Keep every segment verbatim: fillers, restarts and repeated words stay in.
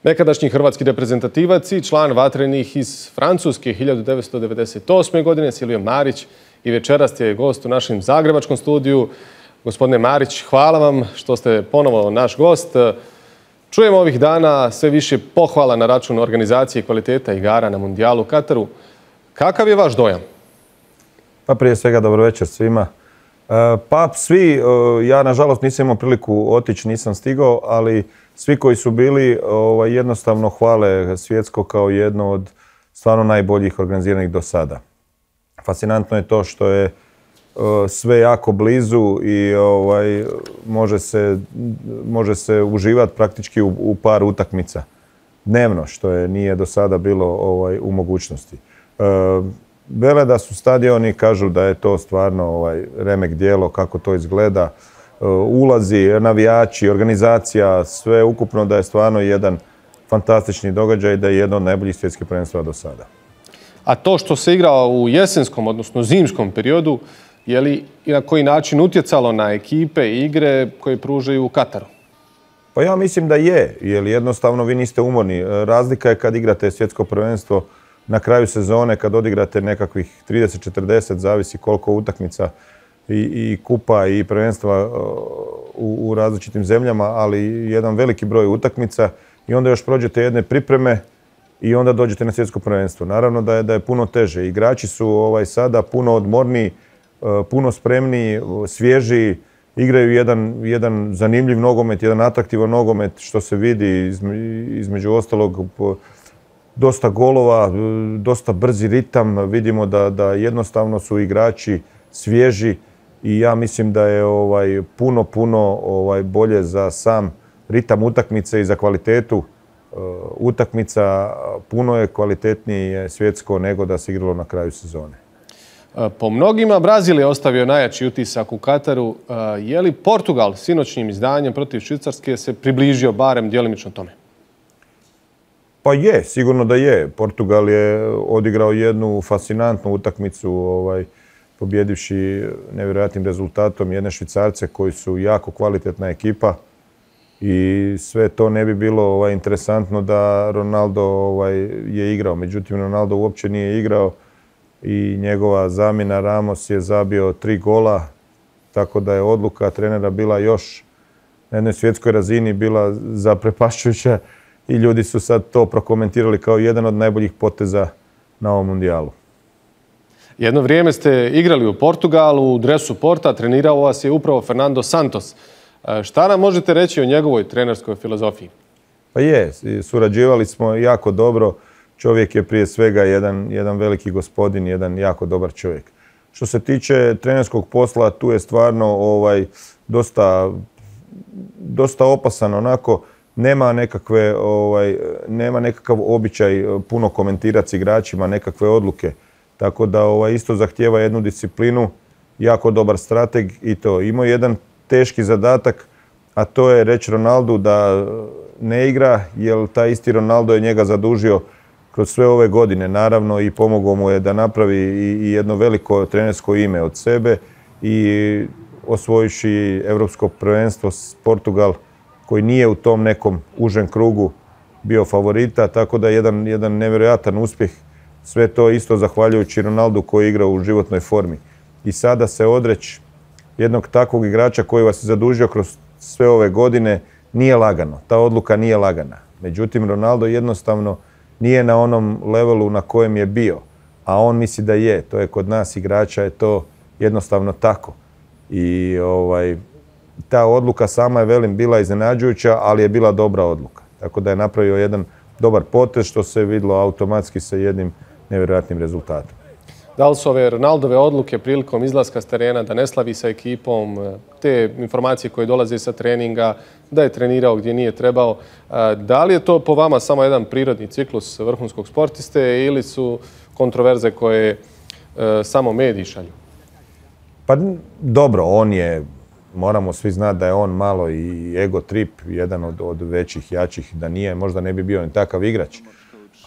Nekadašnji hrvatski reprezentativac i član Vatrenih iz Francuske hiljadu devetsto devedeset osme. godine, Silvio Marić, i večeras je gost u našem zagrebačkom studiju. Gospodine Marić, hvala vam što ste ponovo naš gost. Čujemo ovih dana sve više pohvala na račun organizacije i kvaliteta igara na Mundijalu u Kataru. Kakav je vaš dojam? Pa prije svega dobro večer svima. Pa svi, ja nažalost nisam imao priliku otići, nisam stigao, ali svi koji su bili jednostavno hvale Svjetsko kao jedno od stvarno najboljih organiziranih do sada. Fascinantno je to što je sve jako blizu i može se, može se uživati praktički u, u par utakmica dnevno, što je nije do sada bilo u mogućnosti. Vele da su stadioni, kažu da je to stvarno ovaj, remek djelo, kako to izgleda. Ulazi, navijači, organizacija, sve ukupno da je stvarno jedan fantastični događaj, da je jedno od najboljih svjetskih prvenstva do sada. A to što se igra u jesenskom, odnosno zimskom periodu, je li i na koji način utjecalo na ekipe i igre koje pružaju u Kataru? Pa ja mislim da je, jer jednostavno vi niste umorni. Razlika je kad igrate svjetsko prvenstvo na kraju sezone, kad odigrate nekakvih trideset četrdeset, zavisi koliko utakmica i, i kupa i prvenstva u, u različitim zemljama, ali jedan veliki broj utakmica i onda još prođete jedne pripreme i onda dođete na svjetsko prvenstvo. Naravno da je, da je puno teže. Igrači su ovaj, sada puno odmorniji, puno spremniji, svježiji, igraju jedan, jedan zanimljiv nogomet, jedan atraktivan nogomet, što se vidi između ostalog dosta golova, dosta brzi ritam. Vidimo da, da jednostavno su igrači svježi i ja mislim da je ovaj, puno, puno ovaj, bolje za sam ritam utakmice i za kvalitetu uh, utakmica. Puno je kvalitetnije svjetsko nego da se igralo na kraju sezone. Po mnogima Brazil je ostavio najjači utisak u Kataru. Je li Portugal sinoćnim izdanjem protiv Švicarske se približio barem djelimično tome? Pa je, sigurno da je. Portugal je odigrao jednu fascinantnu utakmicu, ovaj, pobjedivši nevjerojatnim rezultatom jedne Švicarce koji su jako kvalitetna ekipa i sve to ne bi bilo ovaj, interesantno da Ronaldo ovaj, je igrao. Međutim, Ronaldo uopće nije igrao i njegova zamjena Ramos je zabio tri gola, tako da je odluka trenera bila još na jednoj svjetskoj razini bila zaprepašćujuća i ljudi su sad to prokomentirali kao jedan od najboljih poteza na ovom mundijalu. Jedno vrijeme ste igrali u Portugalu, u dresu Porta, trenirao vas je upravo Fernando Santos. Šta nam možete reći o njegovoj trenerskoj filozofiji? Pa je, surađivali smo jako dobro. Čovjek je prije svega jedan, jedan veliki gospodin, jedan jako dobar čovjek. Što se tiče trenerskog posla, tu je stvarno ovaj, dosta, dosta opasan onako. Nema, nekakve, ovaj, nema nekakav običaj puno komentirati s igračima, nekakve odluke. Tako da ovaj, isto zahtijeva jednu disciplinu, jako dobar strateg i to. Imao jedan teški zadatak, a to je reći Ronaldu da ne igra, jer taj isti Ronaldo je njega zadužio kroz sve ove godine, naravno, i pomogao mu je da napravi i jedno veliko trenersko ime od sebe i osvojivši Europsko prvenstvo s Portugal, koji nije u tom nekom užem krugu bio favorita, tako da je jedan, jedan nevjerojatan uspjeh. Sve to isto zahvaljujući Ronaldu koji igra u životnoj formi. I sada se odreći jednog takvog igrača koji vas je zadužio kroz sve ove godine nije lagano. Ta odluka nije lagana. Međutim, Ronaldo jednostavno nije na onom levelu na kojem je bio, a on misli da je. To je kod nas igrača, je to jednostavno tako. I ovaj, ta odluka sama je, velim, bila iznenađujuća, ali je bila dobra odluka. Tako da je napravio jedan dobar potez što se vidjelo automatski sa jednim nevjerojatnim rezultatom. Da li su ove Ronaldove odluke prilikom izlaska s terena da ne slavi sa ekipom, te informacije koje dolaze sa treninga, da je trenirao gdje nije trebao, da li je to po vama samo jedan prirodni ciklus vrhunskog sportiste ili su kontroverze koje samo mediji šalju? Pa dobro, on je, moramo svi znati da je on malo i ego trip, jedan od, od većih, jačih, da nije, možda ne bi bio ni takav igrač.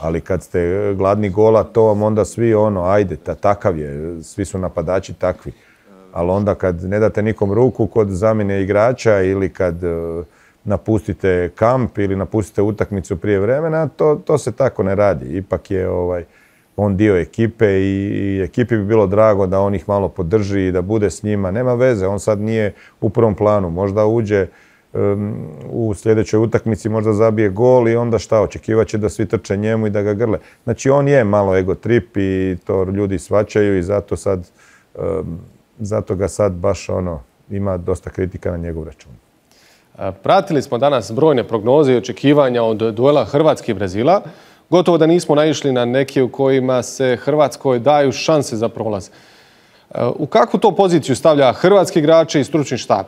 Ali kad ste gladni gola, to vam onda svi ono, ajde, ta, takav je, svi su napadači takvi. Ali onda kad ne date nikom ruku kod zamjene igrača ili kad napustite kamp ili napustite utakmicu prije vremena, to, to se tako ne radi. Ipak je ovaj, on dio ekipe i, i ekipi bi bilo drago da on ih malo podrži i da bude s njima. Nema veze, on sad nije u prvom planu. Možda uđe um, u sljedećoj utakmici, možda zabije gol i onda šta, očekivaće da svi trče njemu i da ga grle. Znači on je malo ego trip i to ljudi shvaćaju i zato sad, um, zato ga sad baš ono, ima dosta kritika na njegov račun. Pratili smo danas brojne prognoze i očekivanja od duela Hrvatske i Brazila. Gotovo da nismo naišli na neke u kojima se Hrvatskoj daju šanse za prolaz. U kakvu to poziciju stavlja hrvatski igrači i stručni štab?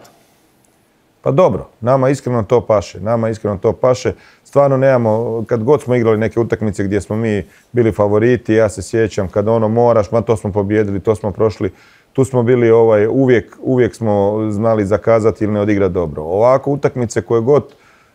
Pa dobro, nama iskreno to paše. Nama iskreno to paše. Stvarno nemamo, kad god smo igrali neke utakmice gdje smo mi bili favoriti, ja se sjećam kad ono moraš, ma to smo pobijedili, to smo prošli. Tu smo bili ovaj, uvijek, uvijek smo znali zakazati ili ne odigrati dobro. Ovako utakmice koje god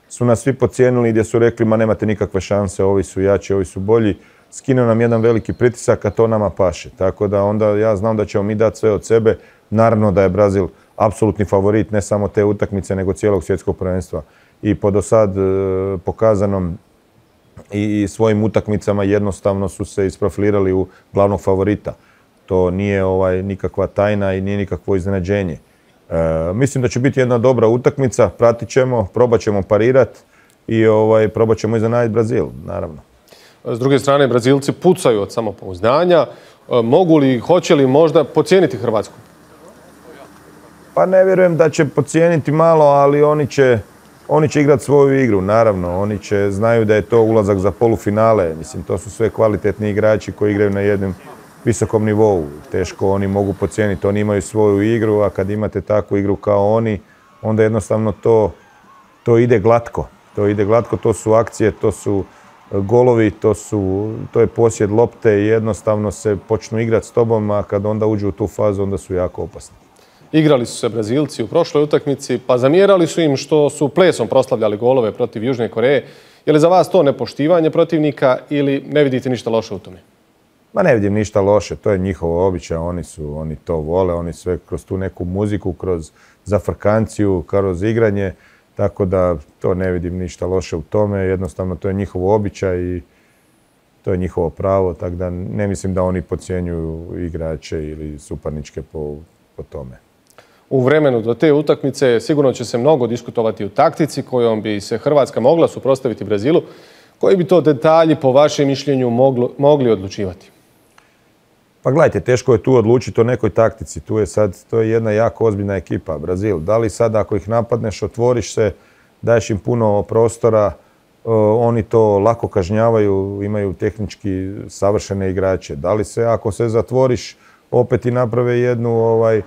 su nas svi podcijenili gdje su rekli ma nemate nikakve šanse, ovi su jači, ovi su bolji, skinuo nam jedan veliki pritisak, a to nama paše. Tako da onda ja znam da ćemo mi dati sve od sebe. Naravno da je Brazil apsolutni favorit ne samo te utakmice nego cijelog svjetskog prvenstva. I po do sad e, pokazanom i svojim utakmicama jednostavno su se isprofilirali u glavnog favorita. To nije ovaj, nikakva tajna i nije nikakvo iznenađenje. E, mislim da će biti jedna dobra utakmica, pratit ćemo, probat ćemo parirati i ovaj, probat ćemo iznenaditi Brazil, naravno. S druge strane, Brazilci pucaju od samopouzdanja. E, mogu li, hoće li možda podcijeniti Hrvatsku? Pa ne vjerujem da će podcijeniti malo, ali oni će, oni će igrati svoju igru, naravno. Oni će, znaju da je to ulazak za polufinale. Mislim, to su sve kvalitetni igrači koji igraju na jednom visokom nivou. Teško oni mogu podcijeniti, oni imaju svoju igru, a kad imate takvu igru kao oni, onda jednostavno to, to ide glatko. To ide glatko, to su akcije, to su golovi, to, su, to je posjed lopte i jednostavno se počnu igrati s tobom, a kad onda uđu u tu fazu, onda su jako opasni. Igrali su se Brazilci u prošloj utakmici, pa zamjerali su im što su plesom proslavljali golove protiv Južne Koreje. Je li za vas to nepoštivanje protivnika ili ne vidite ništa loše u tome? Ma ne vidim ništa loše, to je njihovo običaj, oni su, oni to vole, oni sve kroz tu neku muziku, kroz zafrkanciju, kroz igranje, tako da to ne vidim ništa loše u tome, jednostavno to je njihov običaj i to je njihovo pravo, tako da ne mislim da oni podcjenjuju igrače ili suparničke po, po tome. U vremenu do te utakmice sigurno će se mnogo diskutovati o taktici kojom bi se Hrvatska mogla suprotstaviti Brazilu. Koji bi to detalji po vašem mišljenju moglo, mogli odlučivati? Pa gledajte, teško je tu odlučiti o nekoj taktici. Tu je sad, to je jedna jako ozbiljna ekipa, Brazil. Da li sad ako ih napadneš, otvoriš se, daješ im puno prostora, oni to lako kažnjavaju, imaju tehnički savršene igrače. Da li se ako se zatvoriš, opet i naprave jednu, ovaj,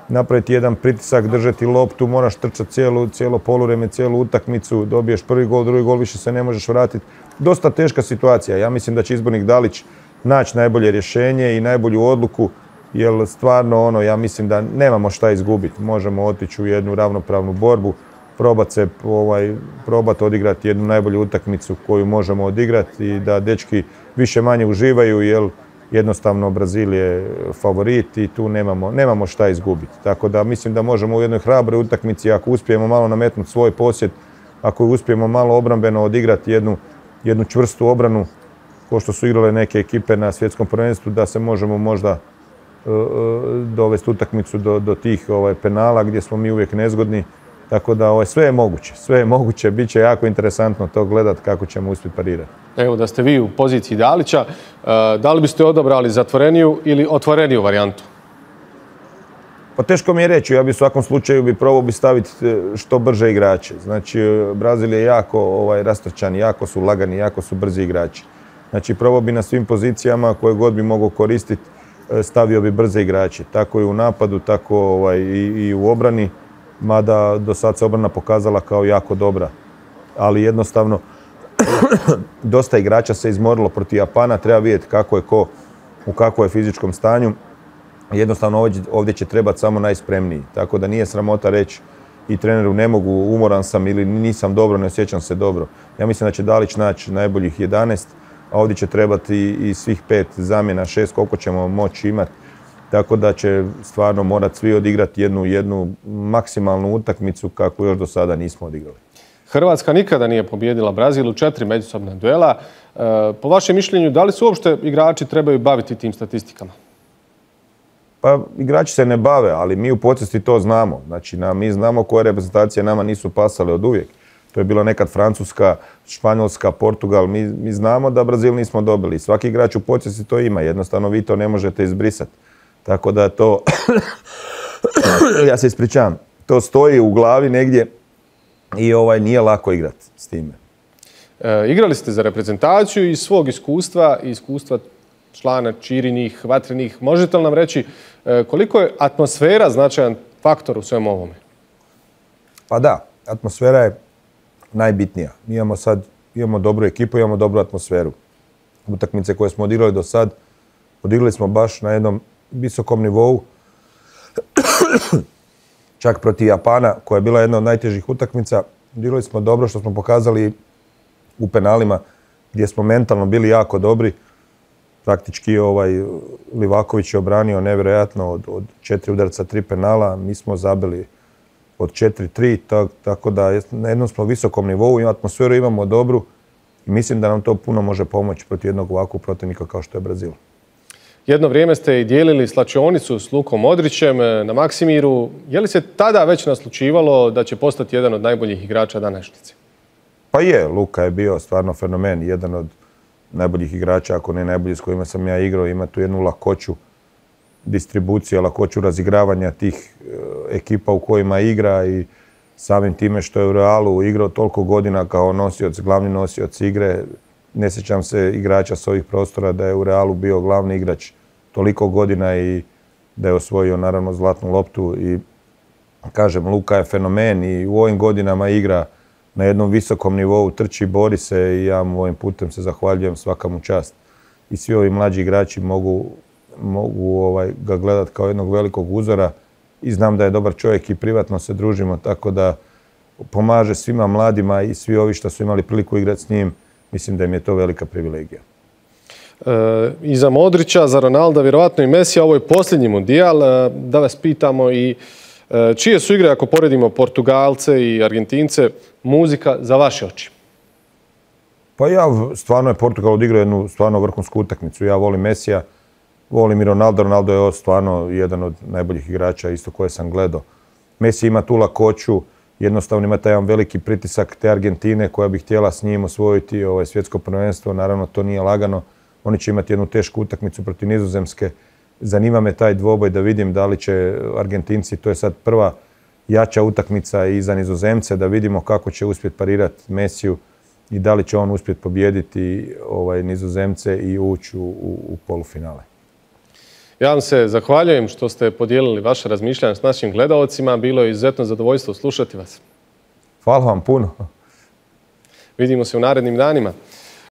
napraviti jedan pritisak, držati loptu, moraš trčati cijelo, cijelo poluvrijeme, cijelu utakmicu, dobiješ prvi gol, drugi gol, više se ne možeš vratiti. Dosta teška situacija. Ja mislim da će izbornik Dalić naći najbolje rješenje i najbolju odluku, jer stvarno ono, ja mislim da nemamo šta izgubiti. Možemo otići u jednu ravnopravnu borbu, probati se, ovaj, probati odigrati jednu najbolju utakmicu koju možemo odigrati i da dečki više manje uživaju, jer jednostavno Brazil je favorit i tu nemamo, nemamo šta izgubiti. Tako da mislim da možemo u jednoj hrabroj utakmici, ako uspijemo malo nametnuti svoj posjed, ako uspijemo malo obrambeno odigrati jednu, jednu čvrstu obranu, kao što su igrale neke ekipe na svjetskom prvenstvu, da se možemo možda uh, dovesti utakmicu do, do tih ovaj, penala gdje smo mi uvijek nezgodni. Tako da ovaj, sve je moguće, sve je moguće, bit će jako interesantno to gledati kako ćemo uspjeti parirati. Evo da ste vi u poziciji Dalića, da li biste odabrali zatvoreniju ili otvoreniju varijantu? Pa teško mi je reći, ja bi u svakom slučaju bi probao bi staviti što brže igrače. Znači, Brazil je jako ovaj, rastrčan, jako su lagani, jako su brzi igrači. Znači, probao bi na svim pozicijama koje god bi mogao koristiti, stavio bi brze igrače. Tako i u napadu, tako ovaj, i, i u obrani. Mada do sad se obrana pokazala kao jako dobra. Ali jednostavno, dosta igrača se izmorilo protiv Japana, treba vidjeti kako je ko, u kakvom je fizičkom stanju. Jednostavno ovdje, ovdje će trebati samo najspremniji. Tako da nije sramota reći i treneru ne mogu, umoran sam ili nisam dobro, ne osjećam se dobro. Ja mislim da će Dalić naći najboljih jedanaest, a ovdje će trebati i, i svih pet zamjena, šest, koliko ćemo moći imati. Tako da će stvarno morati svi odigrati jednu, jednu maksimalnu utakmicu kako još do sada nismo odigrali. Hrvatska nikada nije pobijedila Brazil u četiri međusobna duela. Po vašem mišljenju, da li se uopšte igrači trebaju baviti tim statistikama? Pa igrači se ne bave, ali mi u podsvijesti to znamo. Znači, mi znamo koje reprezentacije nama nisu pasale od uvijek. To je bila nekad Francuska, Španjolska, Portugal. Mi, mi znamo da Brazil nismo dobili. Svaki igrač u podsvijesti to ima. Jednostavno vi to ne možete izbrisati. Tako da to, ja se ispričavam, to stoji u glavi negdje i ovaj, nije lako igrati s time. E, igrali ste za reprezentaciju iz svog iskustva i iskustva člana Čirinih, Vatrenih. Možete li nam reći e, koliko je atmosfera značajan faktor u svemu ovome? Pa da, atmosfera je najbitnija. Mi imamo sad, imamo dobru ekipu, imamo dobru atmosferu. Utakmice koje smo odigrali do sad, odigrali smo baš na jednom visokom nivou. Čak protiv Japana, koja je bila jedna od najtežih utakmica, odigrali smo dobro što smo pokazali u penalima, gdje smo mentalno bili jako dobri. Praktički ovaj, Livaković je obranio nevjerojatno od, od četiri udarca, tri penala. Mi smo zabili od četiri tri, tak, tako da na jednom smo visokom nivou, i atmosferu imamo dobru i mislim da nam to puno može pomoći protiv jednog ovakvog protivnika kao što je Brazil. Jedno vrijeme ste i dijelili slačionicu s Lukom Modrićem na Maksimiru. Je li se tada već naslučivalo da će postati jedan od najboljih igrača današnjice? Pa je, Luka je bio stvarno fenomen, jedan od najboljih igrača, ako ne najbolji s kojima sam ja igrao. Ima tu jednu lakoću distribucije, lakoću razigravanja tih ekipa u kojima igra i samim time što je u Realu igrao toliko godina kao nosioc, glavni nosioc igre. Ne sjećam se igrača s ovih prostora da je u Realu bio glavni igrač toliko godina i da je osvojio naravno zlatnu loptu. I kažem, Luka je fenomen i u ovim godinama igra na jednom visokom nivou, trči, bori se i ja mu ovim putem se zahvaljujem, svaka mu čast. I svi ovi mlađi igrači mogu, mogu ovaj, ga gledati kao jednog velikog uzora i znam da je dobar čovjek i privatno se družimo, tako da pomaže svima mladima i svi ovi što su imali priliku igrati s njim. Mislim da im je to velika privilegija. E, I za Modrića, za Ronalda, vjerovatno i Mesija, ovo je posljednji mundijal. E, da vas pitamo i e, čije su igre, ako poredimo Portugalce i Argentince, muzika za vaše oči? Pa ja, stvarno je Portugal odigrao jednu stvarno vrhunsku utakmicu. Ja volim Mesija, volim i Ronaldo. Ronaldo je stvarno jedan od najboljih igrača, isto koje sam gledao. Messi ima tu lakoću, jednostavno ima taj jedan veliki pritisak te Argentine koja bi htjela s njim osvojiti ovaj svjetsko prvenstvo. Naravno, to nije lagano. Oni će imati jednu tešku utakmicu protiv Nizozemske. Zanima me taj dvoboj da vidim da li će Argentinci, to je sad prva jača utakmica i za Nizozemce, da vidimo kako će uspjeti parirati Messiju i da li će on uspjeti pobijediti ovaj, Nizozemce i ući u, u, u polufinale. Ja vam se zahvaljujem što ste podijelili vaše razmišljanje s našim gledaocima. Bilo je izuzetno zadovoljstvo slušati vas. Hvala vam puno. Vidimo se u narednim danima.